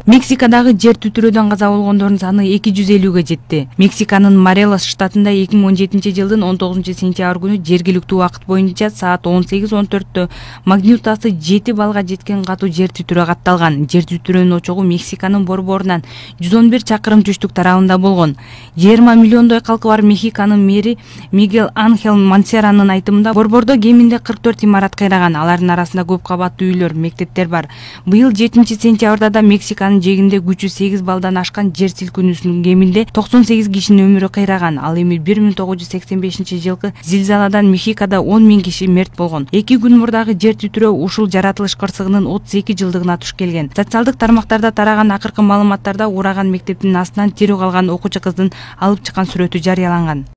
Мексикадагы жер титирөөдөн каза болгондордун саны 250-ге жетти. Мексиканын Морелос штатында 2017 жылдын 19 сентябрь күнү жергиликтүү убакыт боюнча саат 18:14 магнитудасы 7 баллга жеткен катуу жер титирөө катталган. Жер титирөөнүн очогу Мексиканын борборунан 111 чакырым түштүк тарабында болгон. 20 миллиондой калкы бар Мехиканын мэри Мигель Анхел Мансеранын айтымында борбордо кеминде 44 имарат кыйраган. Алардын арасында көп кабаттуу үйлөр, мектептер бар. Быйыл 7 сентябрда да Мексиканын жегинде күчү 8 балдан ашкан жер силкинүүсүнүн кеминде 98 кишинин өмүрү кыйраган. Ал эми 1985 жылкы зилзаладан Мехикада 10 000 киши мерт болгон. 2 күн мурдагы жер титирөө ушул жаратылыш кырсыгынын 32 жылдыгына туш келген. Социалдык тармактарда тараган акыркы маалыматтарда ураган мектептин астынан тирүү калган окуучу кыздын алып чыккан сүрөтү жарыяланган.